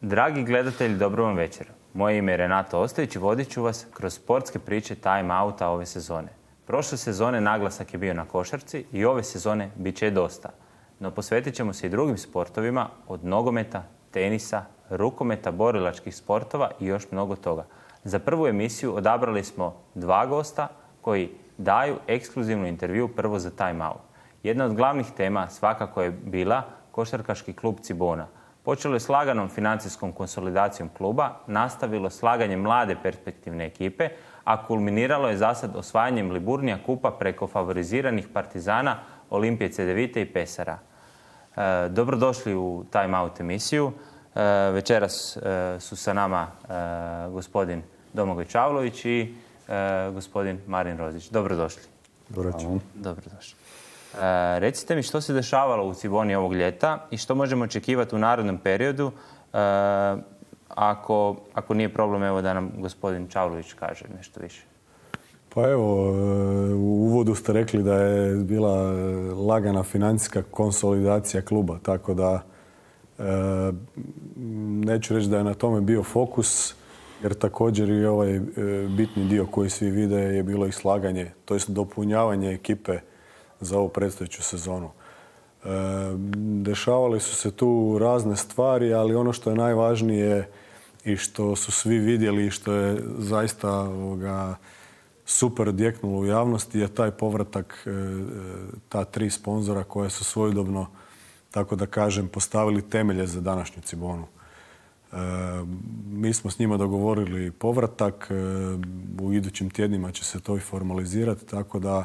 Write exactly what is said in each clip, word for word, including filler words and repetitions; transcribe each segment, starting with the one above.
Dragi gledatelji, dobro vam večer. Moje ime je Renato Ostojić i vodit ću vas kroz sportske priče time outa ove sezone. Prošle sezone naglasak je bio na košarci i ove sezone bit će dosta. No posvetit ćemo se i drugim sportovima, od nogometa, tenisa, rukometa, borilačkih sportova i još mnogo toga. Za prvu emisiju odabrali smo dva gosta koji daju ekskluzivnu intervju prvo za time out. Jedna od glavnih tema svakako je bila košarkaški klub Cibona. Počelo je s laganom financijskom konsolidacijom kluba, nastavilo slaganjem mlade perspektivne ekipe, a kulminiralo je zasad osvajanjem Liburnija kupa preko favoriziranih Partizana, Olimpije Cedevite i Pesara. E, dobrodošli u Time Out emisiju. E, večeras e, su sa nama e, gospodin Domagoj Čavlović i e, gospodin Marin Rozić. Dobrodošli. Dobrodošli. Dobrodošli. E, recite mi što se dešavalo u Ciboni ovog ljeta i što možemo očekivati u narednom periodu, e, ako, ako nije problem, evo da nam gospodin Čavlović kaže nešto više. Pa evo, u uvodu ste rekli da je bila lagana financijska konsolidacija kluba, tako da e, neću reći da je na tome bio fokus, jer također i ovaj e, bitni dio koji svi vide je bilo i slaganje, to jest dopunjavanje ekipe za ovu predstojeću sezonu. E, dešavale su se tu razne stvari, ali ono što je najvažnije i što su svi vidjeli i što je zaista ovoga, super odjeknulo u javnosti je taj povratak e, ta tri sponzora koja su svojedobno, tako da kažem, postavili temelje za današnju Cibonu. E, mi smo s njima dogovorili povratak, e, u idućim tjednima će se to i formalizirati, tako da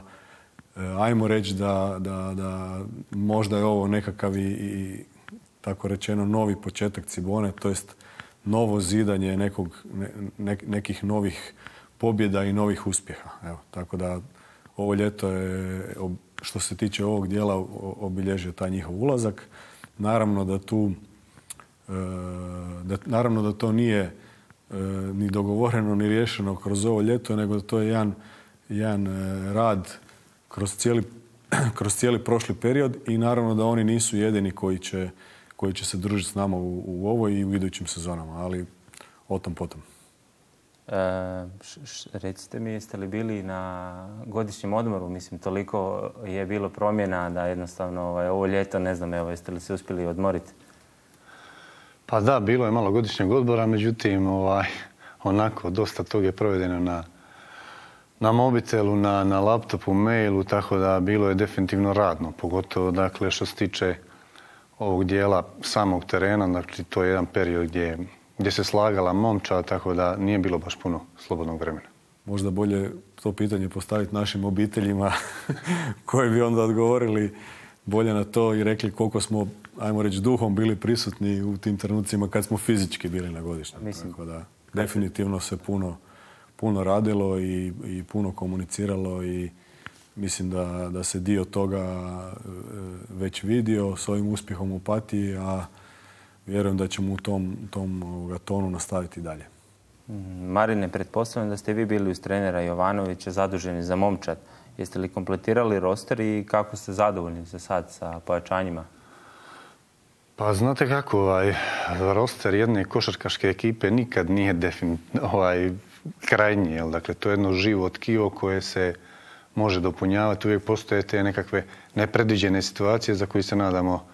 ajmo reći da, da, da možda je ovo nekakav i, i tako rečeno novi početak Cibone, to jest novo zidanje nekog, ne, nekih novih pobjeda i novih uspjeha. Evo, tako da ovo ljeto je, što se tiče ovog dijela, obilježio taj njihov ulazak. Naravno da tu da, naravno da to nije ni dogovoreno ni riješeno kroz ovo ljeto, nego da to je jedan, jedan rad kroz cijeli, kroz cijeli prošli period i naravno da oni nisu jedini koji će, koji će se družiti s nama u, u ovoj i u idućim sezonama, ali o tom potom. E, š, š, recite mi, jeste li bili na godišnjem odmoru? Mislim, toliko je bilo promjena da jednostavno ovaj, ovo ljeto, ne znam, evo, jeste li se uspjeli odmoriti? Pa da, bilo je malo godišnjeg odmora, međutim, ovaj, onako, dosta toga je provedeno na na mobitelu, na, na laptopu, mailu, tako da bilo je definitivno radno, pogotovo dakle što se tiče ovog dijela samog terena, dakle to je jedan period gdje, gdje se slagala momčad, tako da nije bilo baš puno slobodnog vremena. Možda bolje to pitanje postaviti našim obiteljima koji bi onda odgovorili bolje na to i rekli koliko smo, ajmo reći, duhom bili prisutni u tim trenucima kad smo fizički bili na godišnjem. Mislim, tako da definitivno se puno puno radilo i, i puno komuniciralo i mislim da, da se dio toga već vidio s ovim uspjehom u Opatiji, a vjerujem da ćemo u tom, tom ovoga, tonu nastaviti dalje. Marine, pretpostavljam da ste vi bili uz trenera Jovanovića zaduženi za momčad. Jeste li kompletirali roster i kako ste zadovoljni za sad sa pojačanjima? Pa znate kako, ovaj, roster jedne košarkaške ekipe nikad nije definitivno ovaj, krajnji, jel? Dakle, to je jedno živo tkivo koje se može dopunjavati. Uvijek postoje te nekakve nepredviđene situacije za koje se nadamo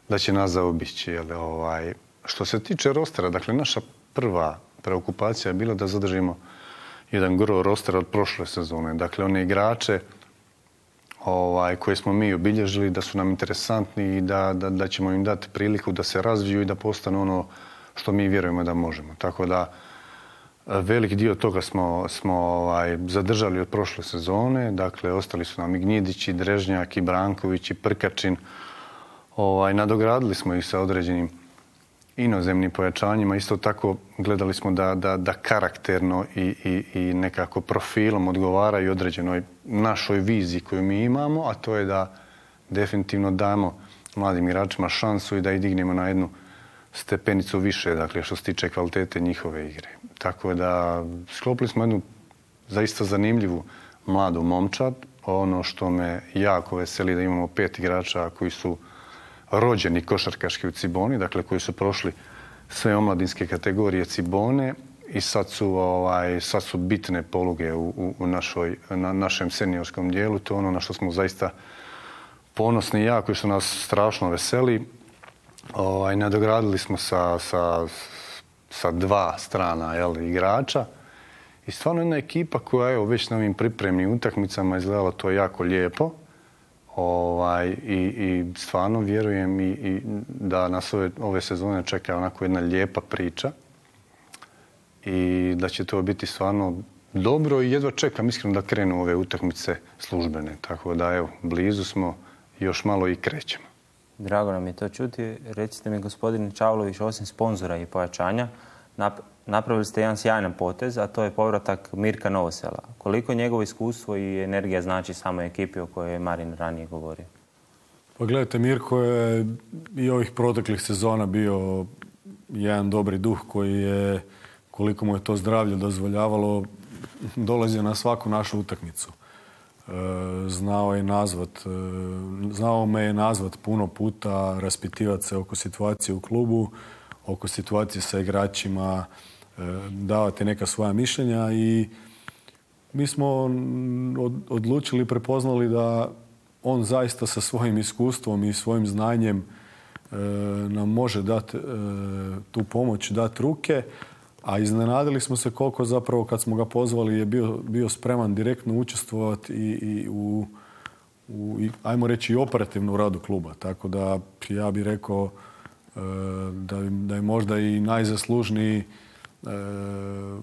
da će nas zaobići. Jel? Ovaj, što se tiče rostera, dakle, naša prva preokupacija je bila da zadržimo jedan gro rostera od prošle sezone. Dakle, one igrače ovaj, koje smo mi obilježili, da su nam interesantni i da, da, da ćemo im dati priliku da se razviju i da postanu ono što mi vjerujemo da možemo. Tako da velik dio toga smo, smo ovaj, zadržali od prošle sezone. Dakle, ostali su nam i Gnjidić, i Drežnjak, i Branković, i Prkačin. Ovaj, nadogradili smo ih sa određenim inozemnim pojačanjima. Isto tako gledali smo da, da, da karakterno i, i, i nekako profilom odgovaraju određenoj našoj viziji koju mi imamo, a to je da definitivno damo mladim igračima šansu i da ih dignemo na jednu stepenicu više, dakle, što se tiče kvalitete njihove igre. Tako da sklopili smo jednu zaista zanimljivu mladu momčad. Ono što me jako veseli da imamo pet igrača koji su rođeni košarkaški u Ciboni, dakle koji su prošli sve omladinske kategorije Cibone i sad su, ovaj, sad su bitne poluge u, u, u našoj, na našem seniorskom dijelu. To je ono na što smo zaista ponosni i jako i što nas strašno veseli. Ovaj, nadogradili smo sa, sa, sa dva strana jel, igrača i stvarno jedna ekipa koja je već na ovim pripremnim utakmicama izgledala to jako lijepo. Ovaj, i, i stvarno vjerujem i, i da nas ove, ove sezone čeka onako jedna lijepa priča i da će to biti stvarno dobro i jedva čekam iskreno da krenu ove utakmice službene. Tako da evo, blizu smo, još malo i krećemo. Drago nam je to čuti. Recite mi, gospodine Čavlović, osim sponzora i pojačanja, napravili ste jedan sjajan potez, a to je povratak Mirka Novosela. Koliko njegovo iskustvo i energija znači samoj ekipi o kojoj je Marin ranije govorio? Pa gledajte, Mirko je i ovih proteklih sezona bio jedan dobri duh koji je, koliko mu je to zdravlje dozvoljavalo, dolazio na svaku našu utakmicu. Znao je nazvat, znao me je nazvat puno puta, raspitivati se oko situacije u klubu, oko situacije sa igračima, davati neka svoja mišljenja i mi smo odlučili, prepoznali da on zaista sa svojim iskustvom i svojim znanjem nam može dati tu pomoć, dati ruke, a iznenadili smo se koliko zapravo kad smo ga pozvali je bio, bio spreman direktno učestvovati i, i u, u i, ajmo reći, i operativno u radu kluba. Tako da ja bih rekao da, da je možda i najzaslužniji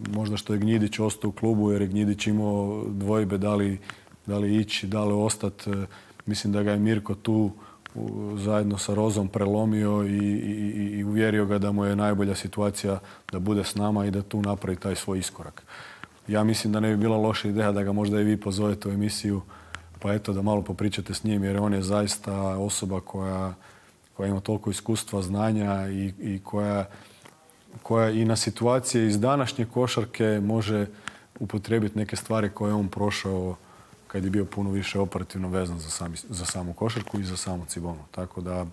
možda što je Gnjidić ostao u klubu, jer je Gnjidić imao dvojbe da li, da li ići, da li ostati. Mislim da ga je Mirko tu zajedno sa Rozom prelomio i, i, i uvjerio ga da mu je najbolja situacija da bude s nama i da tu napravi taj svoj iskorak. Ja mislim da ne bi bila loša ideja da ga možda i vi pozovete u emisiju, pa eto da malo popričate s njim, jer on je zaista osoba koja, koja ima toliko iskustva, znanja i, i koja, koja i na situacije iz današnje košarke može upotrijebiti neke stvari koje je on prošao kad je bio puno više operativno vezan za, sami, za samu košarku i za samu Cibonu. Tako da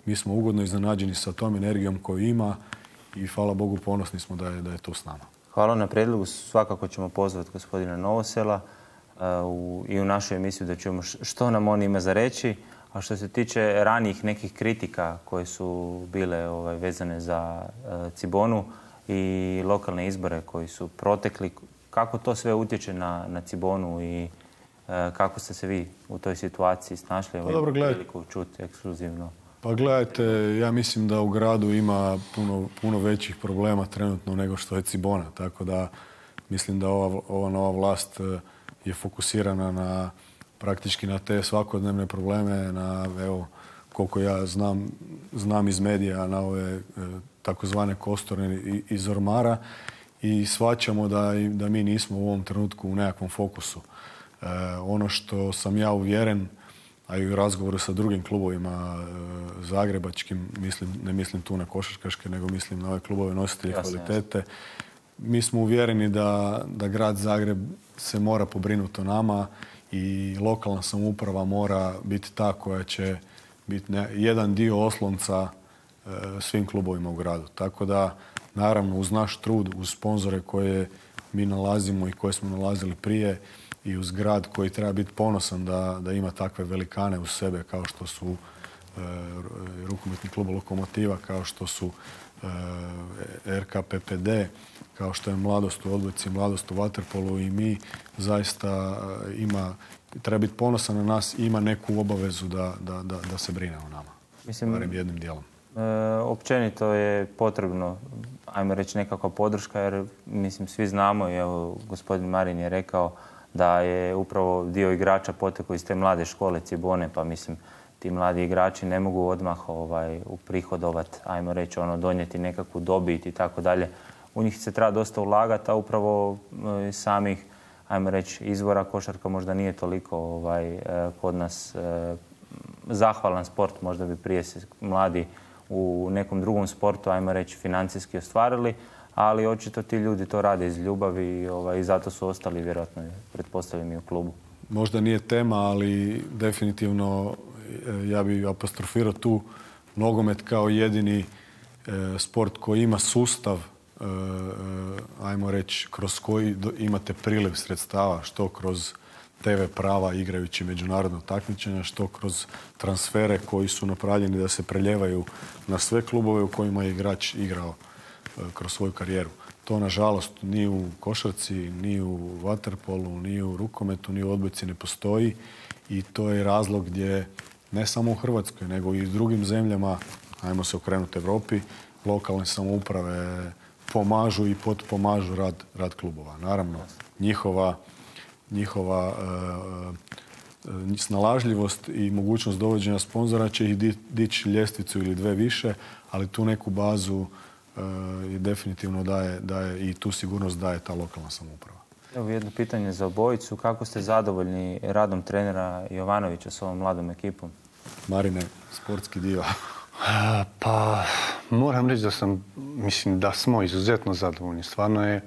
mi smo ugodno iznenađeni sa tom energijom koju ima i hvala Bogu ponosni smo da je, da je tu s nama. Hvala na prijedlogu. Svakako ćemo pozvati gospodina Novosela uh, u, i u našu emisiju da čujemo što nam on ima za reći. A što se tiče ranijih nekih kritika koje su bile ovaj, vezane za uh, Cibonu i lokalne izbore koji su protekli, kako to sve utječe na, na Cibonu i kako ste se vi u toj situaciji snašli? Pa dobro, priliku čuti ekskluzivno. Pa gledajte, ja mislim da u gradu ima puno, puno većih problema trenutno nego što je Cibona. Tako da mislim da ova, ova nova vlast je fokusirana na praktički na te svakodnevne probleme, na evo, koliko ja znam, znam iz medija, na ove takozvane kosturne iz ormara i shvaćamo da, da mi nismo u ovom trenutku u nekakvom fokusu. Uh, ono što sam ja uvjeren, a i u razgovoru sa drugim klubovima uh, zagrebačkim, mislim, ne mislim tu na košarkaške, nego mislim na ove klubove nositelje kvalitete, jasne. Mi smo uvjereni da, da grad Zagreb se mora pobrinuti o nama i lokalna samouprava mora biti ta koja će biti ne, jedan dio oslonca uh, svim klubovima u gradu. Tako da, naravno, uz naš trud, uz sponzore koje mi nalazimo i koje smo nalazili prije, i uz grad koji treba biti ponosan da, da ima takve velikane uz sebe kao što su e, rukometni klub Lokomotiva, kao što su e, R K P P D, kao što je Mladost u odbojci, Mladost u vaterpolu i mi zaista ima, treba biti ponosan na nas i ima neku obavezu da, da, da, da se brine o nama. Mislim, barem jednim dijelom. E, općenito je potrebno, ajmo reći, nekakva podrška jer mislim svi znamo i evo gospodin Marin je rekao da je upravo dio igrača potekao iz te mlade škole Cibone, pa mislim ti mladi igrači ne mogu odmah ovaj, uprihodovati, ajmo reći, ono, donijeti nekakvu dobit i tako dalje. U njih se treba dosta ulagati, a upravo e, samih, ajmo reći, izvora košarka možda nije toliko ovaj, e, kod nas e, zahvalan sport, možda bi prije se mladi u nekom drugom sportu, ajmo reći, financijski ostvarili, ali očito ti ljudi to rade iz ljubavi i ovaj, zato su ostali vjerojatno, pretpostavljam, i u klubu. Možda nije tema, ali definitivno ja bih apostrofirao tu nogomet kao jedini sport koji ima sustav, ajmo reći, kroz koji imate priliv sredstava, što kroz te ve prava igrajući međunarodno takmičenja, što kroz transfere koji su napravljeni da se preljevaju na sve klubove u kojima je igrač igrao kroz svoju karijeru. To, nažalost, ni u košarci, ni u vaterpolu, ni u rukometu, ni u odbojci ne postoji i to je razlog gdje ne samo u Hrvatskoj, nego i u drugim zemljama, ajmo se okrenuti Europi, lokalne samouprave pomažu i potpomažu rad, rad klubova. Naravno, njihova, njihova e, e, snalažljivost i mogućnost dovođenja sponzora će ih di, dići ljestvicu ili dve više, ali tu neku bazu e, definitivno daje, daje i tu sigurnost daje ta lokalna samouprava. Evo jedno pitanje za obojicu. Kako ste zadovoljni radom trenera Jovanovića s ovom mladom ekipom? Marine, sportski dio. Pa, moram reći da sam, mislim da smo izuzetno zadovoljni. Stvarno je,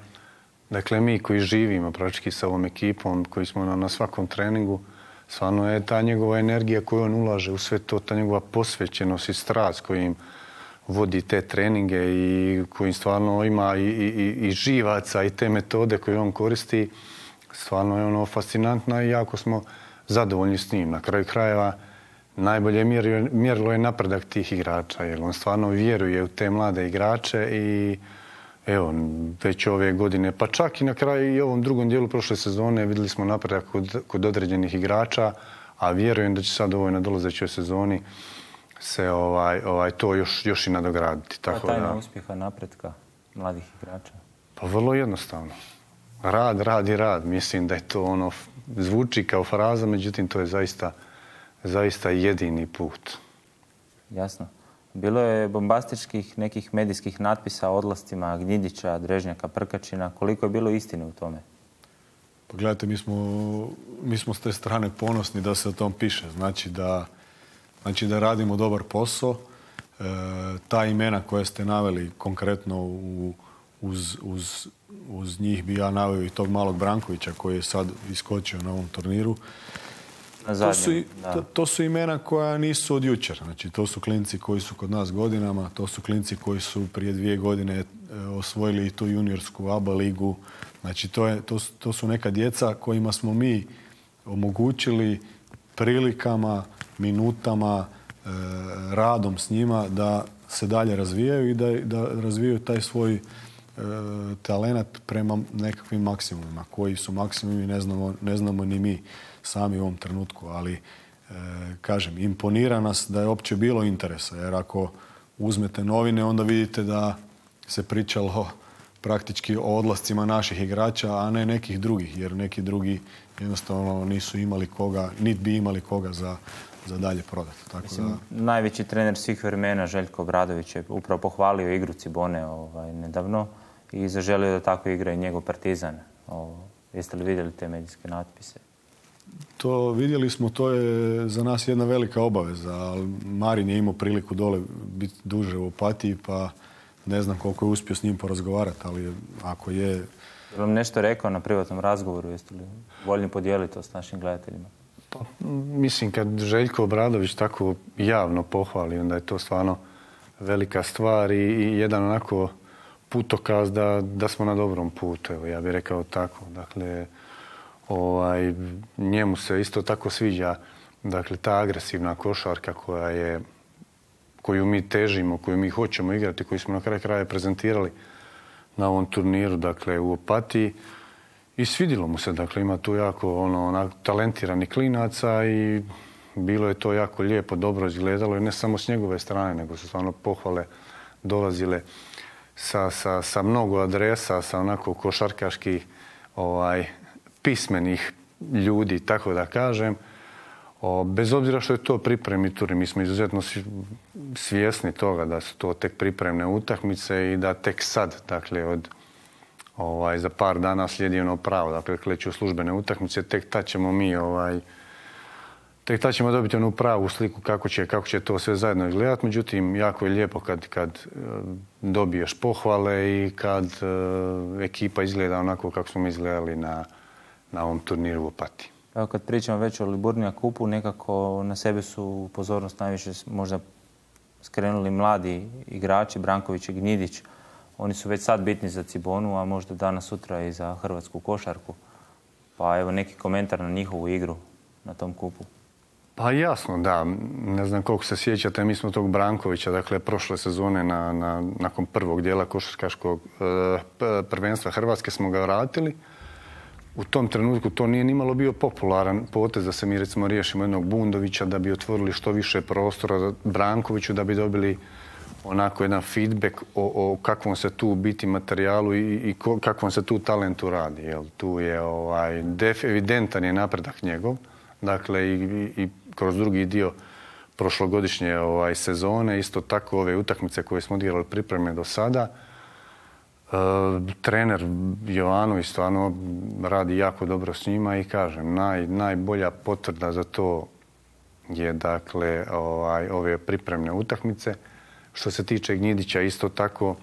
dakle, mi koji živimo praktički sa ovom ekipom, koji smo na, na svakom treningu, stvarno je ta njegova energija koju on ulaže u sve to, ta njegova posvećenost i strast kojim vodi te treninge i koji stvarno ima i, i, i živaca i te metode koje on koristi, stvarno je ono fascinantna i jako smo zadovoljni s njim. Na kraju krajeva najbolje mjerilo je napredak tih igrača, jer on stvarno vjeruje u te mlade igrače i evo, već ove godine, pa čak i na kraju i ovom drugom dijelu prošle sezone vidjeli smo napredak kod, kod određenih igrača, a vjerujem da će sad u ovoj nadolazećoj sezoni se ovaj, ovaj, to još, još i nadograditi. Tako tajna da, uspjeha napretka mladih igrača? Pa vrlo jednostavno. Rad, rad i rad. Mislim da je to ono, zvuči kao fraza, međutim to je zaista, zaista jedini put. Jasno. Bilo je bombastičkih nekih medijskih natpisa o odlascima Gnjidića, Drežnjaka, Prkačina. Koliko je bilo istine u tome? Pogledajte, mi smo, mi smo s te strane ponosni da se o tom piše. Znači da Znači da radimo dobar posao. E, ta imena koje ste naveli konkretno u, uz, uz, uz njih bi ja naveo i tog malog Brankovića koji je sad iskočio na ovom turniru. Na zadnjem, to, su, to, to su imena koja nisu od jučer. Znači to su klinci koji su kod nas godinama, to su klinci koji su prije dvije godine osvojili i tu juniorsku A B A ligu. Znači to, je, to, to su neka djeca kojima smo mi omogućili prilikama, minutama, e, radom s njima da se dalje razvijaju i da, da razvijaju taj svoj e, talenat prema nekakvim maksimumima, koji su maksimumi ne znamo, ne znamo ni mi sami u ovom trenutku, ali e, kažem, imponira nas da je uopće bilo interesa, jer ako uzmete novine, onda vidite da se pričalo praktički o odlascima naših igrača, a ne nekih drugih, jer neki drugi jednostavno nisu imali koga, niti bi imali koga za, za dalje prodati. Tako Mislim, da... Najveći trener svih vremena, Željko Obradović, je upravo pohvalio igru Cibone ovaj, nedavno i zaželio da tako igra i njegov Partizan. O, jeste li vidjeli te medijske natpise? To vidjeli smo, to je za nas jedna velika obaveza. Marin je imao priliku dole biti duže u Opatiji, pa ne znam koliko je uspio s njim porazgovarati, ali ako je... Je vam nešto rekao na privatnom razgovoru? Jeste li voljni podijeliti to s našim gledateljima? Pa, mislim, kad Željko Obradović tako javno pohvali, onda je to stvarno velika stvar i, i jedan onako putokaz da, da smo na dobrom putu. Evo, ja bih rekao tako. Dakle, ovaj, njemu se isto tako sviđa, dakle, ta agresivna košarka koja je, koju mi težimo, koju mi hoćemo igrati, koju smo na kraju kraja prezentirali na ovom turniru, dakle, u Opatiji. I svidjelo mu se, dakle, ima tu jako ono, onak, talentirani klinaca i bilo je to jako lijepo, dobro izgledalo i ne samo s njegove strane, nego su stvarno pohvale dolazile sa, sa, sa mnogo adresa, sa onako košarkaških ovaj, pismenih ljudi, tako da kažem. O, bez obzira što je to pripremni tur, mi smo izuzetno svjesni toga da su to tek pripremne utakmice i da tek sad, dakle, od ovaj, za par dana slijedi ono pravo, dakle, kleću službene utakmice, tek tad ćemo mi, ovaj, tek tad ćemo dobiti onu pravu sliku kako će, kako će to sve zajedno izgledati. Međutim, jako je lijepo kad, kad dobiješ pohvale i kad uh, ekipa izgleda onako kako smo mi izgledali na, na ovom turniru u Opatiji. Evo, kad pričamo već o Liburnija kupu, nekako na sebe su pozornost najviše možda skrenuli mladi igrači, Branković i Gnjidić. Oni su već sad bitni za Cibonu, a možda danas sutra i za hrvatsku košarku. Pa evo neki komentar na njihovu igru na tom kupu. Pa jasno, da. Ne znam koliko se sjećate, mi smo tog Brankovića, dakle, prošle sezone na, na, nakon prvog dijela košarkaškog e, prvenstva Hrvatske smo ga vratili. U tom trenutku to nije nimalo bio popularan potez da se mi recimo riješimo jednog Bundovića, da bi otvorili što više prostora Brankoviću, da bi dobili onako jedan feedback o, o kakvom se tu biti materijalu i, i ko, kakvom se tu talentu radi. Jel? Tu je ovaj, def, evidentan je napredak njegov. Dakle, i, i, i kroz drugi dio prošlogodišnje ovaj, sezone, isto tako ove utakmice koje smo odigrali pripreme do sada. E, trener Jovanović stvarno radi jako dobro s njima i kažem, naj, najbolja potvrda za to je dakle ovaj, ove pripremne utakmice. Što se tiče Gnjidića, isto tako,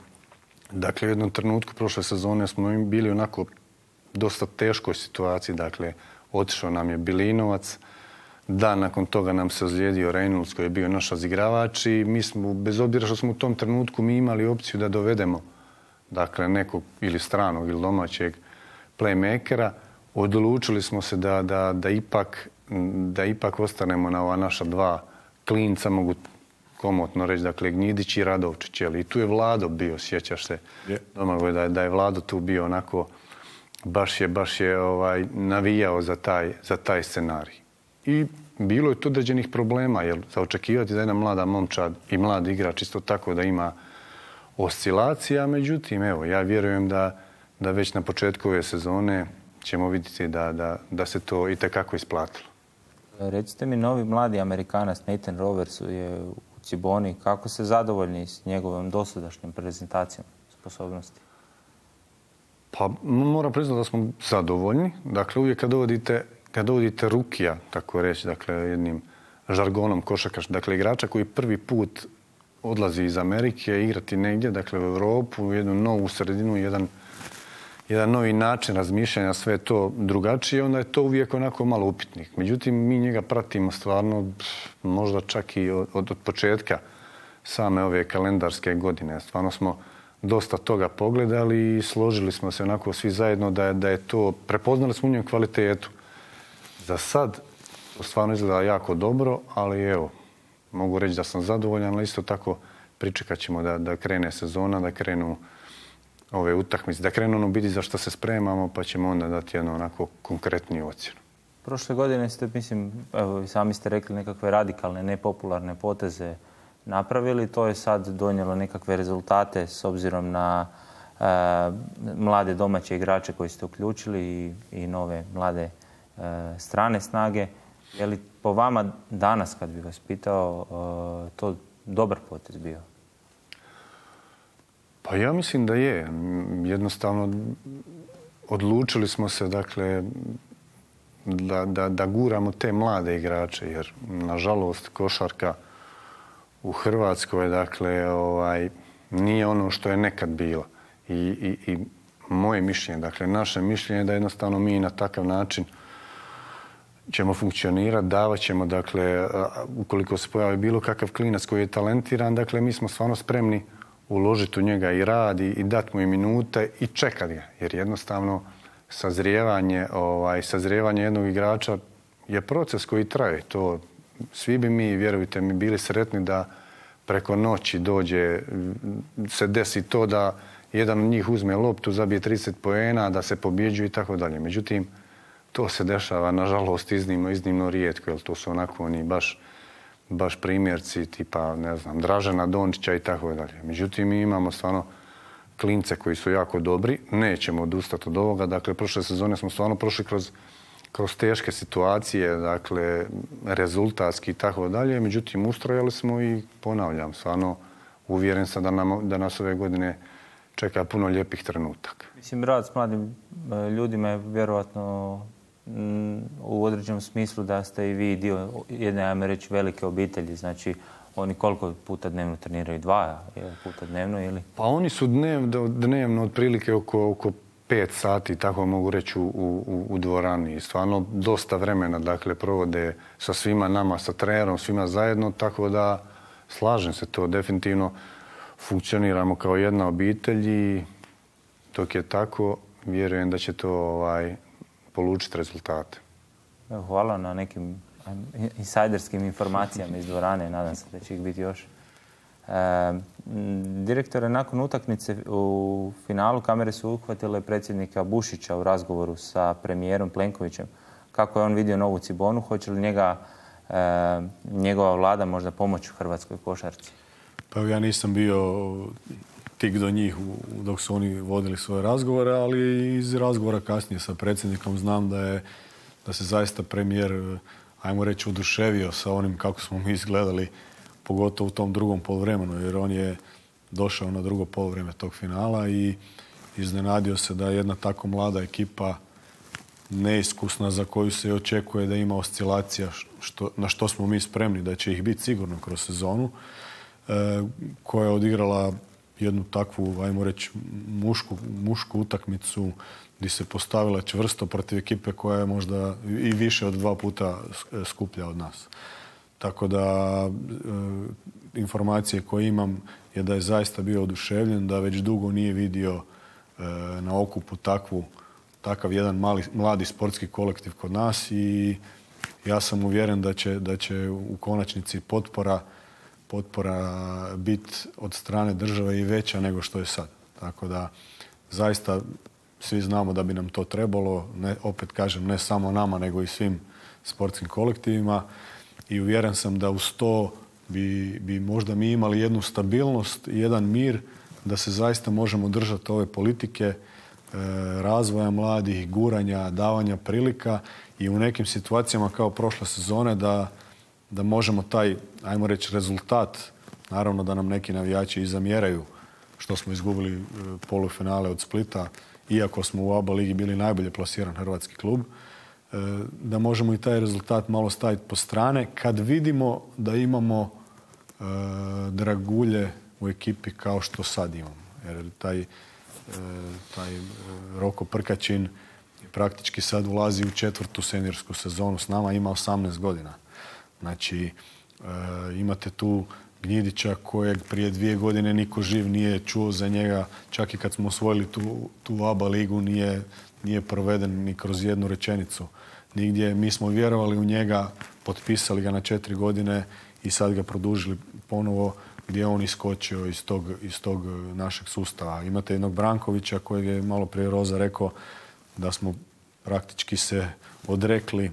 dakle, u jednom trenutku prošle sezone smo bili onako dosta teškoj situaciji, dakle, otišao nam je Bilinovac, dan nakon toga nam se ozlijedio Reynolds koji je bio naš igravač i mi smo, bez obzira što smo u tom trenutku mi imali opciju da dovedemo dakle, nekog ili stranog ili domaćeg playmakera, odlučili smo se da, da, da, ipak, da ipak ostanemo na ova naša dva klinca, mogu komotno reći, dakle, Gnjidić i Radovčić. I tu je Vlado bio, sjećaš se, yeah. Domagoj, da, da je Vlado tu bio onako, baš je, baš je ovaj, navijao za taj, za taj scenarij. I bilo je tu određenih problema, jer za očekivati da jedna mlada momčad i mlad igrač isto tako da ima oscilacija, međutim, evo, ja vjerujem da, da već na početku ove sezone ćemo vidjeti da, da, da se to i tekako isplatilo. Recite mi, novi mladi Amerikanac Nathan Roberts je u Ciboni. Kako se zadovoljni s njegovom dosadašnjom prezentacijom sposobnosti? Pa moram priznati da smo zadovoljni. Dakle, uvijek kad dovodite, kad dovodite rukija, tako reći, dakle, jednim žargonom košarkaš, dakle, igrača koji prvi put odlazi iz Amerike igrati negdje, dakle, u Europu, u jednu novu sredinu, jedan, jedan novi način razmišljanja, sve to drugačije, onda je to uvijek onako malo upitnik. Međutim, mi njega pratimo stvarno možda čak i od, od početka same ove kalendarske godine. Stvarno smo dosta toga pogledali i složili smo se onako svi zajedno da je, da je to, prepoznali smo u njem kvalitetu. Za sad to stvarno izgleda jako dobro, ali evo, mogu reći da sam zadovoljan, ali isto tako pričekat ćemo da, da krene sezona, da krenu ove utakmice, da krenu ono biti za što se spremamo, pa ćemo onda dati jednu onako konkretniju ocjenu. Prošle godine ste, mislim, evo, sami ste rekli nekakve radikalne, nepopularne poteze napravili. To je sad donijelo nekakve rezultate s obzirom na e, mlade domaće igrače koji ste uključili i, i nove mlade e, strane snage. Je li po vama danas, kad bi vas pitao, e, to dobar potez bio? Pa ja mislim da je. Jednostavno odlučili smo se, dakle, da, da, da guramo te mlade igrače, jer nažalost košarka u Hrvatskoj, dakle, ovaj, nije ono što je nekad bilo. I, i, i moje mišljenje, dakle, naše mišljenje je da jednostavno mi na takav način ćemo funkcionirati, davat ćemo, dakle, ukoliko se pojavi bilo kakav klinac koji je talentiran, dakle, mi smo stvarno spremni uložiti u njega i rad i, i dati mu i minute i čekati ga. Jer jednostavno sazrijevanje, ovaj, sazrijevanje jednog igrača je proces koji traje. To, svi bi mi, vjerujte mi, bili sretni da preko noći dođe, se desi to da jedan od njih uzme loptu, zabije trideset poena, da se pobjeđuje i tako dalje. Međutim, to se dešava, nažalost, iznimno, iznimno rijetko, jer to su onako oni baš baš primjerci tipa, ne znam, Dražena Dončića i tako dalje. Međutim, mi imamo stvarno klince koji su jako dobri. Nećemo odustati od ovoga. Dakle, prošle sezone smo stvarno prošli kroz, kroz teške situacije, dakle, rezultatski i tako dalje. Međutim, ustrojali smo i ponavljam, stvarno uvjeren sam da, nam, da nas ove godine čeka puno lijepih trenutaka. Mislim, rad s mladim ljudima je vjerovatno u određenom smislu da ste i vi dio jedne, ajme reći, velike obitelji. Znači, oni koliko puta dnevno treniraju? Dva puta dnevno ili? Pa oni su dnevno, dnevno otprilike oko, oko pet sati, tako mogu reći, u, u, u dvorani. Stvarno dosta vremena, dakle, provode sa svima nama, sa trenerom, svima zajedno, tako da slažem se, to definitivno funkcioniramo kao jedna obitelj i dok je tako, vjerujem da će to ovaj, polučiti rezultate. Hvala na nekim insajderskim informacijama iz dvorane. Nadam se da će ih biti još. E, direktore, nakon utakmice u finalu kamere su uhvatile predsjednika Bušića u razgovoru sa premijerom Plenkovićem. Kako je on vidio novu Cibonu? Hoće li njega, e, njegova vlada možda pomoći u hrvatskoj košarci? Pa ja nisam bio tik do njih dok su oni vodili svoje razgovore, ali iz razgovora kasnije sa predsjednikom znam da je da se zaista premijer, ajmo reći, oduševio sa onim kako smo mi izgledali, pogotovo u tom drugom poluvremenu, jer on je došao na drugo poluvrijeme tog finala i iznenadio se da jedna tako mlada ekipa, neiskusna, za koju se očekuje da ima oscilacija, što, na što smo mi spremni, da će ih biti sigurno kroz sezonu, e, koja je odigrala jednu takvu, ajmo reći, mušku, mušku utakmicu gdje se postavila čvrsto protiv ekipe koja je možda i više od dva puta skuplja od nas. Tako da e, informacije koje imam je da je zaista bio oduševljen, da već dugo nije vidio e, na okupu takvu, takav jedan mali, mladi sportski kolektiv kod nas i ja sam uvjeren da će, da će u konačnici potpora potpora biti od strane države i veća nego što je sad. Tako da zaista svi znamo da bi nam to trebalo, ne, opet kažem, ne samo nama, nego i svim sportskim kolektivima i uvjeren sam da uz to bi, bi možda mi imali jednu stabilnost i jedan mir da se zaista možemo držati ove politike e, razvoja mladih, guranja, davanja prilika i u nekim situacijama kao prošle sezone da da možemo taj, ajmo reći, rezultat, naravno da nam neki navijači i zamjeraju što smo izgubili polufinale od Splita, iako smo u A B A ligi bili najbolje plasiran hrvatski klub, da možemo i taj rezultat malo staviti po strane kad vidimo da imamo e, dragulje u ekipi kao što sad imamo. Jer taj, e, taj Roko Prkačin praktički sad ulazi u četvrtu seniorsku sezonu s nama, ima osamnaest godina. Znači, e, imate tu Gnjidića kojeg prije dvije godine niko živ nije čuo za njega. Čak i kad smo osvojili tu, tu A B A ligu nije, nije proveden ni kroz jednu rečenicu. Nigdje. Mi smo vjerovali u njega, potpisali ga na četiri godine i sad ga produžili ponovo gdje je on iskočio iz tog, iz tog našeg sustava. Imate jednog Brankovića kojeg je malo prije Roza rekao da smo praktički se odrekli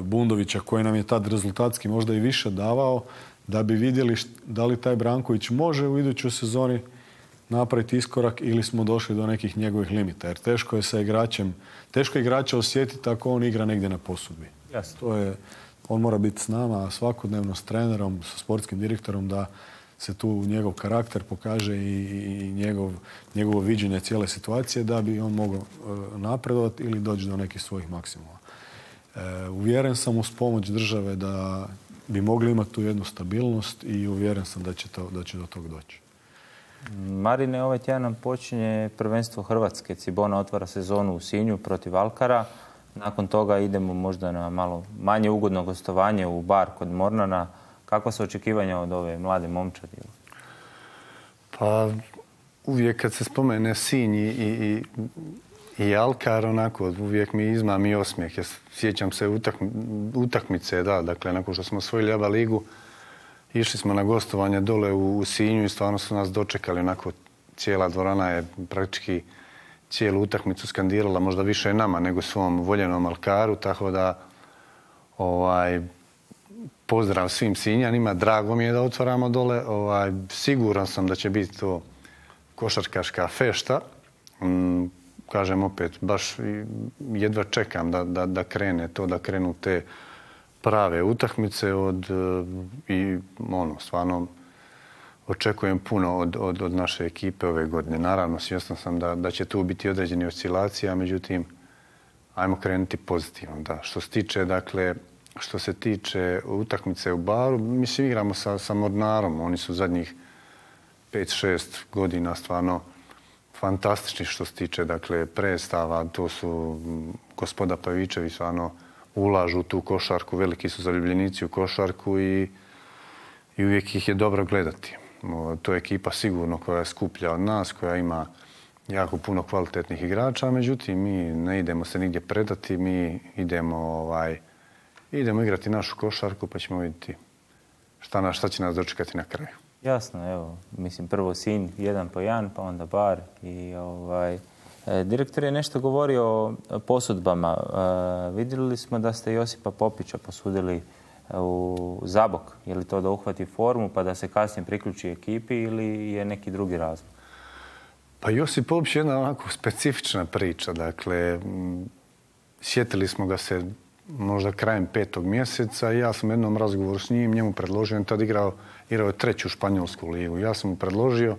Bundovića koji nam je tad rezultatski možda i više davao da bi vidjeli da li taj Branković može u idućoj sezoni napraviti iskorak ili smo došli do nekih njegovih limita. Jer teško je sa igračem, teško je igrača osjetiti ako on igra negdje na posudbi. Jasno. To je, on mora biti s nama svakodnevno, s trenerom, sa sportskim direktorom da se tu njegov karakter pokaže i, i njegov, njegovo viđenje cijele situacije da bi on mogao napredovati ili doći do nekih svojih maksimuma. E, uvjeren sam uz pomoć države da bi mogli imati tu jednu stabilnost i uvjeren sam da će, to, da će do toga doći. Marine, ovaj tjedan nam počinje prvenstvo Hrvatske. Cibona otvara sezonu u Sinju protiv Alkara. Nakon toga idemo možda na malo manje ugodno gostovanje u Bar kod Mornana. Kakva su očekivanja od ove mlade momčadi? Pa uvijek kad se spomene Sinj i, i, i Alkar, onako, uvijek mi izmami osmijeh. Ja sjećam se utakmi, utakmice, da, dakle, nakon što smo osvojili A B A ligu, išli smo na gostovanje dole u, u Sinju i stvarno su nas dočekali, onako, cijela dvorana je praktički cijelu utakmicu skandirala, možda više nama nego svom voljenom Alkaru, tako da ovaj, pozdrav svim Sinjanima, drago mi je da otvaramo dole, ovaj, siguran sam da će biti to košarkaška fešta. Mm, kažem opet, baš jedva čekam da, da, da krene to, da krenu te prave utakmice od, i ono, stvarno očekujem puno od, od, od naše ekipe ove godine. Naravno, svjestan sam da, da će tu biti određeni oscilacija, međutim, ajmo krenuti pozitivno. Da. Što se tiče, dakle, što se tiče utakmice u Baru, mislim, igramo sa, sa Mornarom. Oni su zadnjih pet šest godina stvarno fantastični što se tiče, dakle, predstava. To su gospoda Pavičevi stvarno ulažu u tu košarku, veliki su zaljubljenici u košarku i i uvijek ih je dobro gledati. To je ekipa sigurno koja je skuplja od nas, koja ima jako puno kvalitetnih igrača, međutim mi ne idemo se nigdje predati, mi idemo, ovaj, idemo igrati našu košarku pa ćemo vidjeti šta, na, šta će nas dočekati na kraju. Jasno, evo, mislim prvo Sinj, jedan po jedan, pa onda Bar i ovaj... E, direktor je nešto govorio o posudbama. E, vidjeli smo da ste Josipa Popića posudili u Zabok. Je li to da uhvati formu pa da se kasnije priključi ekipi ili je neki drugi razlog? Pa Josip Popić je jedna onako specifična priča. Dakle, sjetili smo ga se možda krajem petog mjeseca i ja sam u jednom razgovoru s njim njemu predložio, on tad igrao, igrao je treću španjolsku ligu. Ja sam mu predložio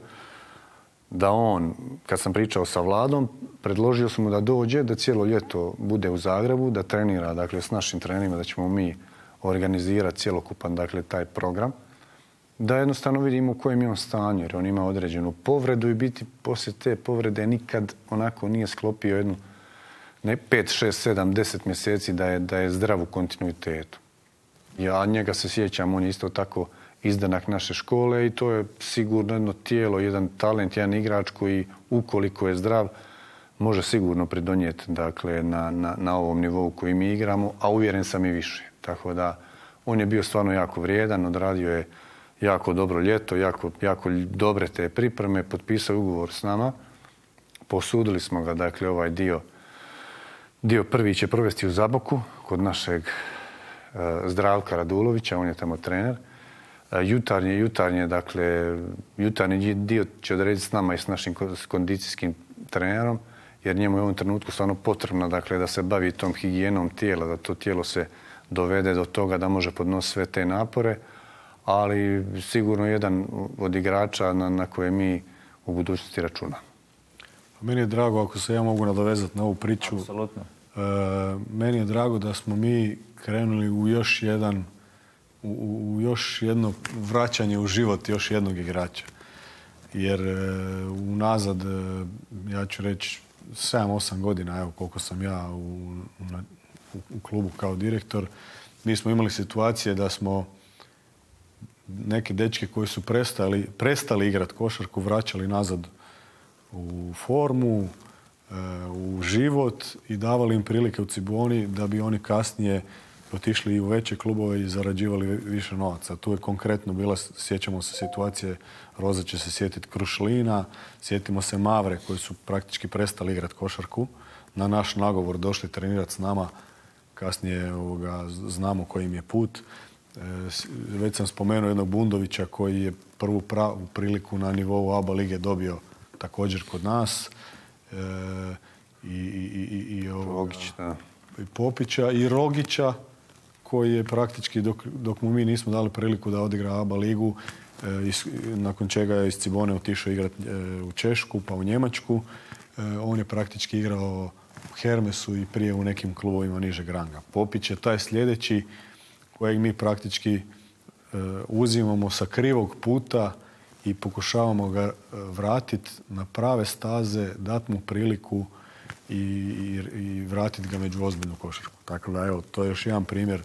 da on, kad sam pričao sa Vladom, predložio sam mu da dođe, da cijelo ljeto bude u Zagrebu, da trenira, dakle, s našim trenerima, da ćemo mi organizirati cjelokupan, dakle, taj program, da jednostavno vidimo u kojem je on stanju, jer on ima određenu povredu i biti poslije te povrede nikad onako nije sklopio jednu ne pet, šest, sedam, deset mjeseci da je, da je zdrav u kontinuitetu. Ja njega se sjećam, on je isto tako izdanak naše škole i to je sigurno jedno tijelo, jedan talent, jedan igrač koji ukoliko je zdrav može sigurno pridonijeti, dakle, na, na, na ovom nivou koji mi igramo, a uvjeren sam i više. Tako da on je bio stvarno jako vrijedan, odradio je jako dobro ljeto, jako, jako dobre te pripreme, potpisao ugovor s nama, posudili smo ga, dakle, ovaj dio, dio prvi će provesti u Zaboku kod našeg uh, Zdravka Radulovića, on je tamo trener. Jutarnje, jutarnje, dakle, jutarnji dio će odrediti s nama i s našim kondicijskim trenerom, jer njemu je u ovom trenutku stvarno potrebno, dakle, da se bavi tom higijenom tijela, da to tijelo se dovede do toga da može podnositi sve te napore, ali sigurno jedan od igrača na, na koje mi u budućnosti računamo. Meni je drago, ako se ja mogu nadovezati na ovu priču, apsolutno. E, meni je drago da smo mi krenuli u još jedan U, u još jedno vraćanje u život još jednog igrača. Jer e, unazad, e, ja ću reći, sedam osam godina, evo koliko sam ja u, na, u, u klubu kao direktor, mi smo imali situacije da smo neke dečke koji su prestali, prestali igrati košarku, vraćali nazad u formu, e, u život i davali im prilike u Ciboni da bi oni kasnije otišli i u veće klubove i zarađivali više novaca. Tu je konkretno bila, sjećamo se situacije, Roza će se sjetiti Krušlina, sjetimo se Mavre koji su praktički prestali igrati košarku. Na naš nagovor došli trenirati s nama, kasnije ovoga, znamo koji im je put. E, već sam spomenuo jednog Bundovića koji je prvu pravu priliku na nivou A B A lige dobio također kod nas. E, i, i, i, i, ovoga, Rogić, da. i Popića i Rogića, koji je praktički, dok, dok mu mi nismo dali priliku da odigra A B A ligu, e, is, nakon čega je iz Cibone otišao igrati e, u Češku, pa u Njemačku. E, on je praktički igrao u Hermesu i prije u nekim klubovima nižeg ranga. Popić je taj sljedeći kojeg mi praktički e, uzimamo sa krivog puta i pokušavamo ga vratiti na prave staze, dati mu priliku i, i, i vratiti ga među ozbiljnu košarku. Tako da, evo, to je još jedan primjer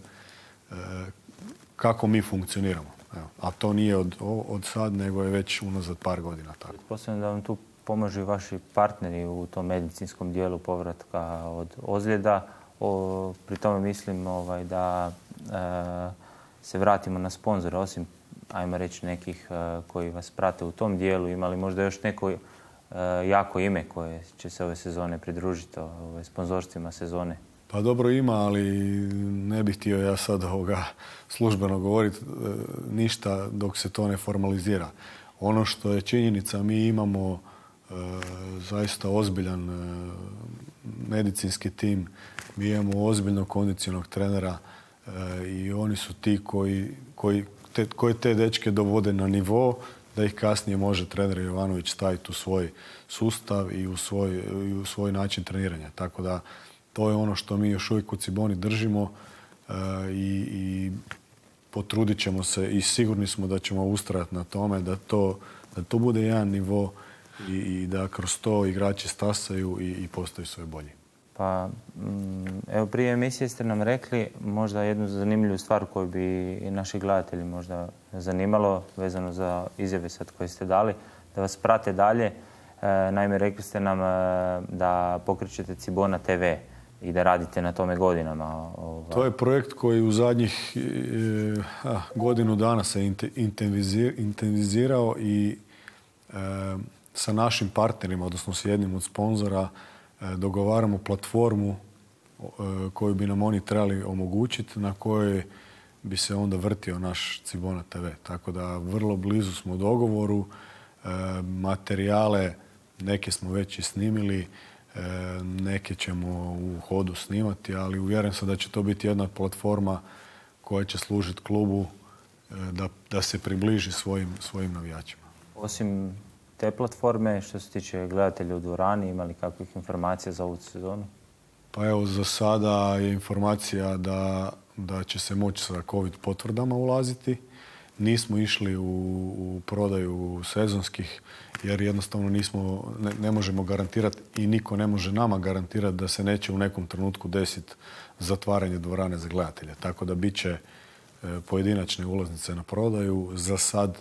e, kako mi funkcioniramo. Evo, a to nije od, od sad, nego je već unazad par godina. Tako. Posebno da vam tu pomažu i vaši partneri u tom medicinskom dijelu povratka od ozljeda. O, pri tome mislim ovaj, da e, se vratimo na sponzore, osim, ajmo reći, nekih e, koji vas prate u tom dijelu. Imali možda još neko e, jako ime koje će se ove sezone pridružiti ove sponzorstvima sezone? Pa dobro ima, ali ne bih htio ja sad ovoga službeno govoriti e, ništa dok se to ne formalizira. Ono što je činjenica, mi imamo e, zaista ozbiljan e, medicinski tim, mi imamo ozbiljnog kondicionog trenera e, i oni su ti koji, koji, te, koji te dečke dovode na nivo da ih kasnije može trener Jovanović staviti u svoj sustav i u svoj, i u svoj način treniranja. Tako da to je ono što mi još uvijek u Ciboni držimo e, i, i potrudit ćemo se i sigurni smo da ćemo ustrajati na tome da to, da to bude jedan nivo i, i da kroz to igrači stasaju i, i postaju sve bolji. Pa, evo, prije emisije ste nam rekli možda jednu zanimljivu stvar koju bi i naši gledatelji možda zanimalo, vezano za izjave sad koje ste dali, da vas prate dalje. Naime, rekli ste nam da pokrećete Cibona te ve i da radite na tome godinama. To je projekt koji u zadnjih a, godinu dana se intenzivizirao i e, sa našim partnerima, odnosno s jednim od sponzora, e, dogovaramo platformu e, koju bi nam oni trebali omogućiti, na kojoj bi se onda vrtio naš Cibona te ve. Tako da vrlo blizu smo u dogovoru. E, materijale neke smo već i snimili, neke ćemo u hodu snimati, ali uvjeren sam da će to biti jedna platforma koja će služiti klubu da, da se približi svojim, svojim navijačima. Osim te platforme, što se tiče gledatelja u dvorani, imali kakvih informacija za ovu sezonu? Pa evo, za sada je informacija da, da će se moći sa COVID potvrdama ulaziti. Nismo išli u, u prodaju sezonskih jer jednostavno nismo, ne, ne možemo garantirati i niko ne može nama garantirati da se neće u nekom trenutku desiti zatvaranje dvorane za gledatelje. Tako da bit će e, pojedinačne ulaznice na prodaju, za sad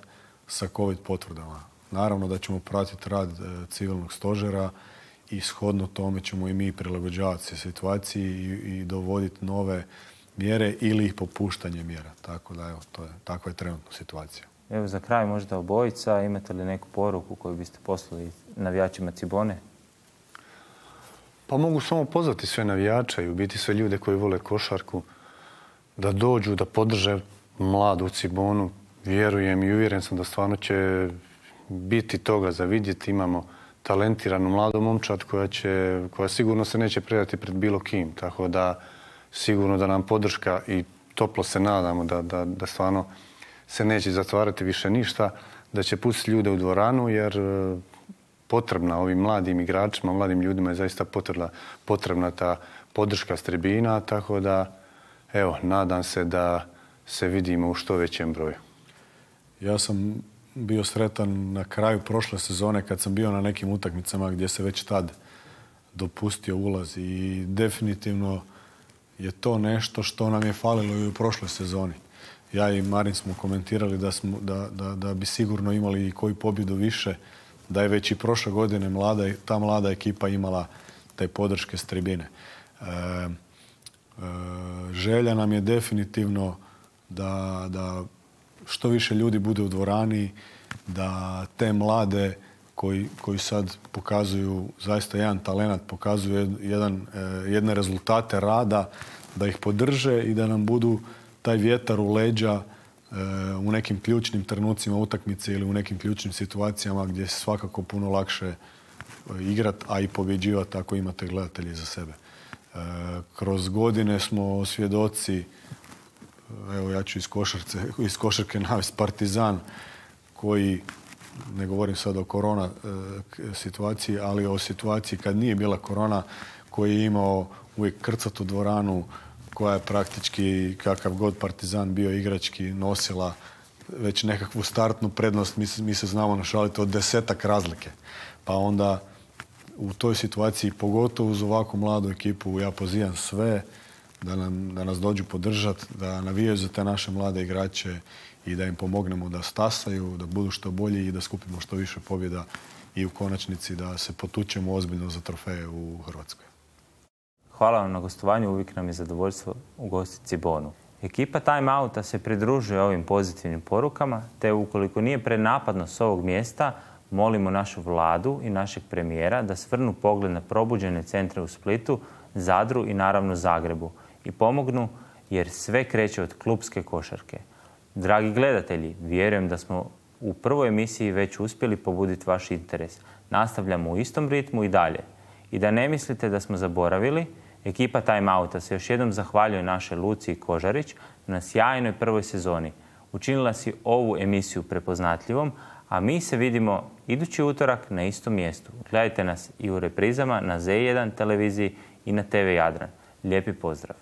sa COVID potvrdama. Naravno da ćemo pratiti rad e, civilnog stožera i shodno tome ćemo i mi prilagođavati se situaciji i, i dovoditi nove mjere ili ih popuštanje mjera. Tako da, evo, to je, takva je trenutna situacija. Evo, za kraj možda obojica, imate li neku poruku koju biste poslali navijačima Cibone? Pa mogu samo pozvati sve navijače i u biti sve ljude koji vole košarku da dođu, da podrže mladu Cibonu. Vjerujem i uvjeren sam da stvarno će biti toga za vidjeti. Imamo talentiranu mladu momčad koja, će, koja sigurno se neće predati pred bilo kim. Tako da sigurno da nam podrška i toplo se nadamo da, da, da stvarno se neće zatvarati više ništa, da će pustiti ljude u dvoranu jer potrebna ovim mladim igračima, mladim ljudima je zaista potrebna, potrebna ta podrška s tribina, tako da evo, nadam se da se vidimo u što većem broju. Ja sam bio sretan na kraju prošle sezone kad sam bio na nekim utakmicama gdje se već tad dopustio ulaz i definitivno je to nešto što nam je falilo i u prošloj sezoni. Ja i Marin smo komentirali da, smo, da, da, da bi sigurno imali i koju pobjedu više, da je već i prošle godine mlada, ta mlada ekipa imala te podrške s tribine. E, e, želja nam je definitivno da, da što više ljudi bude u dvorani, da te mlade koji, koji sad pokazuju zaista jedan talenat, pokazuju jedan, jedne rezultate rada, da ih podrže i da nam budu taj vjetar u leđa u nekim ključnim trenucima utakmice ili u nekim ključnim situacijama gdje se svakako puno lakše igrati, a i pobjeđivati ako imate gledatelji za sebe. Kroz godine smo svjedoci, evo ja ću iz, košarce, iz košarke navesti Partizan, koji, ne govorim sad o korona situaciji, ali o situaciji kad nije bila korona, koji je imao uvijek krcatu dvoranu, koja je praktički, kakav god Partizan bio igrački, nosila već nekakvu startnu prednost. Mi, mi se znamo našaliti od desetak razlike. Pa onda u toj situaciji, pogotovo uz ovakvu mladu ekipu, ja pozivam sve da, nam, da nas dođu podržati, da navijaju za te naše mlade igrače i da im pomognemo da stasaju, da budu što bolji i da skupimo što više pobjeda i u konačnici da se potučemo ozbiljno za trofeje u Hrvatskoj. Hvala vam na gostovanju, uvijek nam je zadovoljstvo ugostiti Cibonu. Ekipa Time Outa se pridružuje ovim pozitivnim porukama, te ukoliko nije prenapadno s ovog mjesta, molimo našu vladu i našeg premijera da svrnu pogled na probuđene centre u Splitu, Zadru i naravno Zagrebu i pomognu jer sve kreće od klupske košarke. Dragi gledatelji, vjerujem da smo u prvoj emisiji već uspjeli pobuditi vaš interes. Nastavljamo u istom ritmu i dalje. I da ne mislite da smo zaboravili, ekipa Time Outa se još jednom zahvaljuje našoj Luciji Kožarić na sjajnoj prvoj sezoni. Učinila si ovu emisiju prepoznatljivom, a mi se vidimo idući utorak na istom mjestu. Gledajte nas i u reprizama na Z jedan televiziji i na T V Jadran. Lijepi pozdrav!